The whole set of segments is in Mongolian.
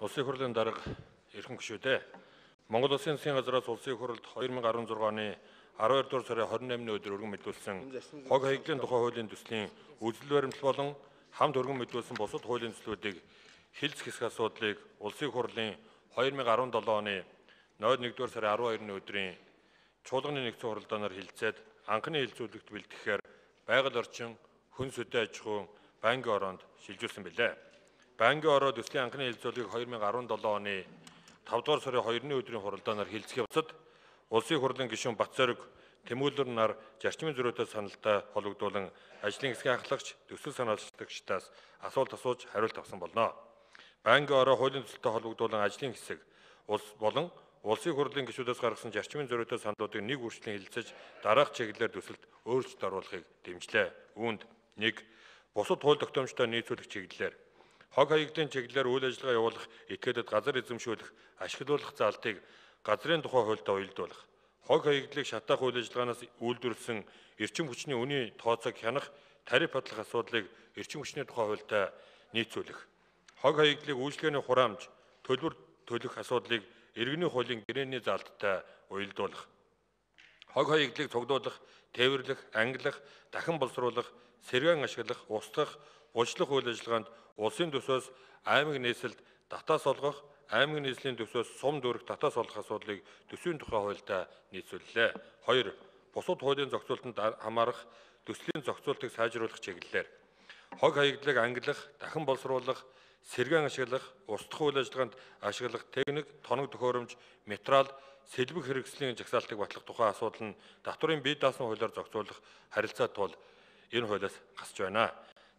Улсын хурлын дарга эрхэм гишүүдээ Монгол Улсын засгийн газраас улсын хурлд 2016 оны 12 дугаар сарын 28-ны өдөр өргөн мэдүүлсэн хог хаягдлын тухай хуулийн төслийн үзэл баримтлал болон хамт өргөн мэдүүлсэн бусад хуулийн төслүүдийг хэлцэх хэсэг асуудлыг улсын хурлын 2017 оны 01 дугаар сарын 12-ны өдрийн чуулганы нэгдсэн хуралдаанаар хилцээд анхны хилцүүлэгт бэлтгэхээр байгаль орчин, хүн сүдэ аж ахуйн банкны ороонд шилжүүлсэн билээ. Банкны ороо төслийн анхны хилцүүлгийг 2017 оны 5 дугаар сарын 2-ны өдрийн хуралдаанаар хилцэх явцад улсын хурлын гишүүн Батцориг Тэмүүлэр нар зарчмын зөрүүтэй саналтай холбогдуулан ажлын хэсгийн ахлагч төсөл санаачлагдагчдаас асуулт асууж хариулт авсан болно. Банкны ороо хуулийн төсөлтэй холбогдуулан ажлын хэсэг болон улсын хурлын гишүүдээс гаргасан зарчмын зөрүүтэй саналуудыг нэг үржлийн хэлэлцэж дараах чиглэлээр төсөлд өөрчлөлт оруулахыг дэмжлээ. Үүнд 1. Бусад хууль тогтоомжтой нийцүүлэх чиглэлээр хог хаягдлын чиглэлээр үйл ажиллагаа явуулах этгээдэд газар эзэмшүүлэх, ашиглуулах заалтыг газрын тухай хуультай уялдуулах, хог хаягдлыг шатаах үйл ажиллагаанаас үйлдвэрлэсэн эрчим хүчний үнийн тооцоог хянах, тариф бодлого асуудлыг эрчим хүчний тухай хуультай нийцүүлэх, хог хаягдлыг үйлчлэгээний хураамж, төлбөр төлөх асуудлыг иргэний хуулийн гэрээний заалттай уялдуулах, хог хаягдлыг цуглуулах, тээвэрлэх, ангилах, дахин боловсруулах, сэргээн ашиглах, устгах, булчлах үйл ажиллагаанд улсын төсөөс аймаг нийслэлд татаас олгох, аймаг нийслэлийн төсөөс сум дүүрэх татаас олгох асуудлыг төсвийн тухай хуультай нийцүүллээ. 2. Бусад хуулийн зохицуулалтанд хамаарах төслийн зохицуултыг сайжруулах чиглэлээр хог хаягдлыг ангилах, дахин боловсруулах, сэргээн ашиглах, устгах үйл ажиллагаанд ашиглах техник, тоног төхөөрөмж, материал, сэлбэг хэрэгслийн жагсаалтыг батлах тухай асуудал нь татврын бие даасан хуулиар зохицуулах харилцаа тул энэ хуулиас гасж байна.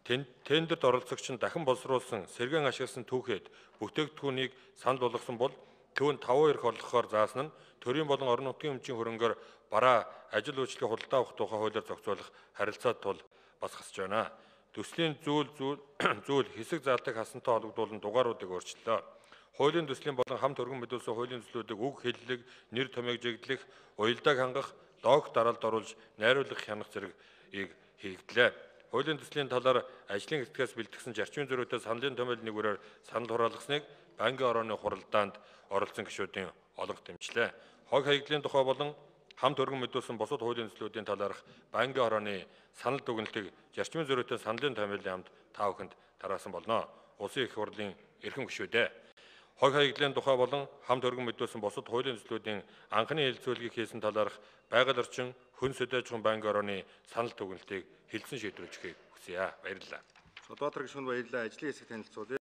Тендерт оролцогч нь дахин боловсруулсан, сэргээн ашигласан түүхэд бүтээгдэхүүнийг санал болгосон бол түүнд 5% орлохоор заасан нь төрийн болон орон нутгийн өмчийн хөрөнгөөр бараа ажил үйлчлэгээ худалдаа авах тухай хуулиар зохицуулах харилцаа тул бас гасж байна. Төслийн зүйл хэсэг заалтыг хасантай холбогдуулан дугааруудыг өөрчлөлөө. Хуулийн төслийн болон хамт өргөн мэдүүлсэн хуулийн төслүүдийг үг хэллэг, нэр томьёог жиглэх, уялдааг хангах, логик дараалд оруулж найруулах хянах зэргийг хийгдлээ. Хуулийн төслийн талаар ажлын хэсгээс бэлтгэсэн зарчмын зөрүүтэй саналын томьёолын нэгүрээр санал хураалгасныг банкны орооны хуралдаанд оролцсон гишүүдийн олонх дэмжлээ. Хог хаягдлын тухай болон хамт өргөн мэдүүлсэн бусад хуулийн төслүүдийн талаарх банкны орооны санал дүгнэлтийг зарчмын зөрүүтэй саналын томьёолын амд та бүхэнд тараасан болно. Улсын их хурлын эрхэм гишүүдээ хог хаягдлын тухай болон хамт өргөн мэдүүлсэн бусад хуулийн төслүүдийн анхны хэлэлцүүлгийг хийсэн талаарх байгаль орчин, хүн сүдэ аж ахуйн банкны орооны санал дүгнэлтийг хэлсэн шийдвэрлэхийг хүсье. Баярлалаа. Содбаатар гишүүнд баярлалаа. Ажлын хэсэг танилцуулъя.